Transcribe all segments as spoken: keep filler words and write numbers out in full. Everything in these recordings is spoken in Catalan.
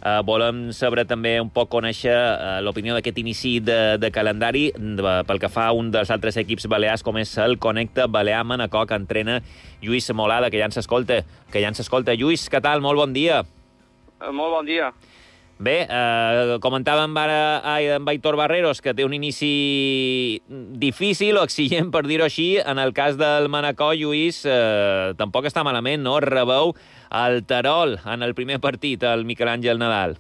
Uh, volem saber també un poc conèixer uh, l'opinió d'aquest inici de, de calendari de, pel que fa a un dels altres equips balears, com és el Connecta Balear-Manacor, que entrena Lluís Molada, que ja ens escolta. Que ja ens escolta. Lluís, què tal? Molt bon dia. Uh, molt bon dia. Bé, eh, comentàvem ara amb Aitor Barreros que té un inici difícil o exigent, per dir-ho així. En el cas del Manacor, Lluís, eh, tampoc està malament, no? Rebeu el Terol en el primer partit, el Miquel Àngel Nadal.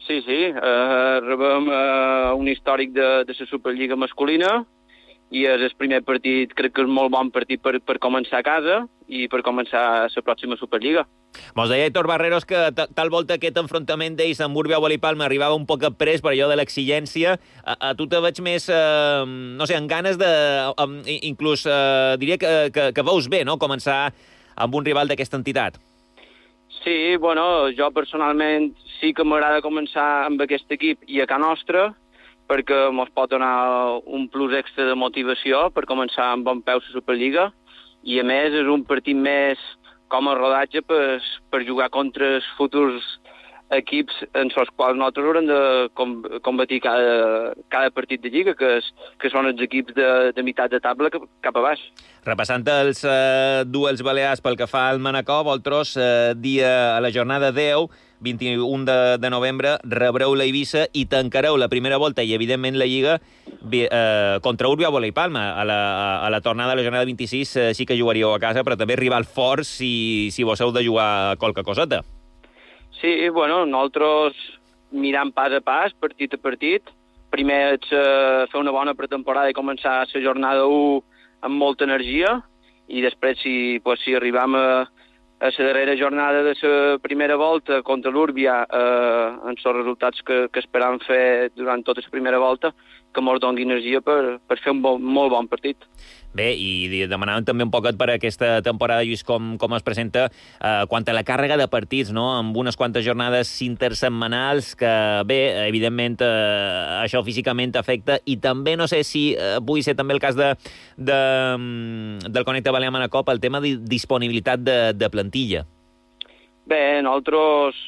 Sí, sí, eh, rebem eh, un històric de, de la Superliga masculina i és el primer partit, crec que és molt bon partit per, per començar a casa i per començar la pròxima Superliga. Mos deia Aitor Barreros que tal volta aquest enfrontament d'ells amb Urbia Bola i Palma arribava un poc pres per allò de l'exigència. A, a tu te veig més, eh, no sé, amb ganes de... Um, inclús eh, diria que, que, que veus bé, no?, començar amb un rival d'aquesta entitat. Sí, bueno, jo personalment sí que m'agrada començar amb aquest equip i a casa nostra, perquè mos pot donar un plus extra de motivació per començar amb bon peu la Superliga, i a més és un partit més com a rodatge per, per jugar contra els futurs equips en els quals nosaltres haurem de combatir cada, cada partit de Lliga, que, és, que són els equips de, de meitat de taula cap a baix. Repassant els eh, duels balears pel que fa al Manacor, vosaltres, eh, dia a la jornada deu, vint-i-un de, de novembre, rebreu la Eivissa i tancareu la primera volta i, evidentment, la Lliga eh, contra Urbia Bola i Palma. A la, a la tornada de la jornada vint-i-sis eh, sí que jugaríeu a casa, però també rival fort si, si vos heu de jugar qualque coseta. Sí, bueno, nosaltres mirant pas a pas, partit a partit. Primer és uh, fer una bona pretemporada i començar la jornada u amb molta energia, i després, si, pues, si arribam a, a la darrera jornada de la primera volta contra l'Úrbia, eh, en els resultats que, que esperam fer durant tota la primera volta, que ens doni energia per, per fer un bon, molt bon partit. Bé, i demanàvem també un poquet per aquesta temporada, Lluís, com, com es presenta eh, quant a la càrrega de partits, no?, amb unes quantes jornades intersetmanals que, bé, evidentment, eh, això físicament afecta, i també no sé si eh, pugui ser també el cas de, de, del Connecta Balear-Manacor pel tema de disponibilitat de, de plantilla. Bé, nosaltres,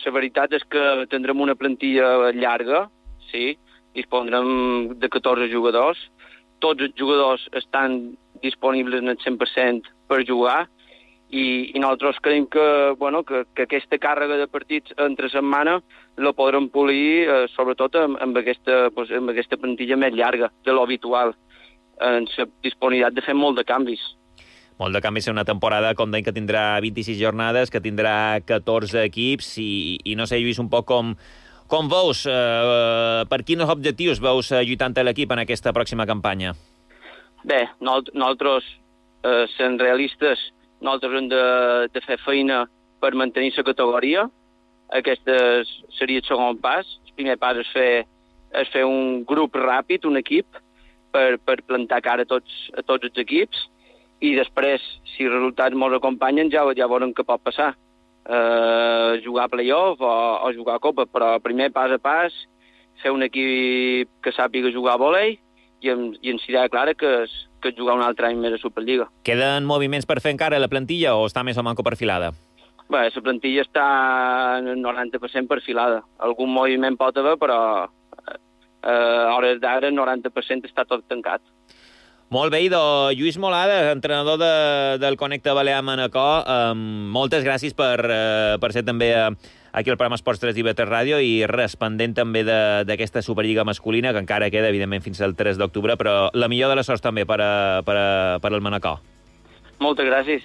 la veritat és que tindrem una plantilla llarga, sí, disposarem de catorze jugadors. Tots els jugadors estan disponibles en el cent per cent per jugar, i, i nosaltres creiem que, bueno, que, que aquesta càrrega de partits entre setmana la podrem polir, eh, sobretot amb, amb, aquesta, pues, amb aquesta plantilla més llarga de l'habitual, en la disponibilitat de fer molt de canvis. Molt de canvis en una temporada, com deim, que tindrà vint-i-sis jornades, que tindrà catorze equips, i, i no sé, Lluís, un poc com... Com veus, eh, per quins objectius veus eh, lluitant l'equip en aquesta pròxima campanya? Bé, nosaltres, eh, sent realistes, nosaltres hem de, de fer feina per mantenir la categoria. Aquest seria el segon pas. El primer pas és fer, és fer un grup ràpid, un equip, per, per plantar cara a tots, a tots els equips, i després, si els resultats ens acompanyen, ja, ja veurem què pot passar. Uh, jugar a play-off o, o jugar a Copa, però primer pas a pas fer un equip que sàpiga jugar a vòlei i, i ens serà clara que, és, que jugar un altre any més a Superliga. Queden moviments per fer encara la plantilla o està més o manco perfilada? Bé, la plantilla està en el noranta per cent perfilada. Algun moviment pot haver, però uh, a hores d'ara el noranta per cent està tot tancat. Molt bé, idò. Lluís Molada, entrenador de, del Connecta Balear-Manacor, eh, moltes gràcies per, eh, per ser també eh, aquí al programa Esports tres i B tres Ràdio, i res pendent també d'aquesta Superliga masculina, que encara queda, evidentment, fins al tres d'octubre, però la millor de les sorts també per, a, per, a, per al Manacor. Moltes gràcies.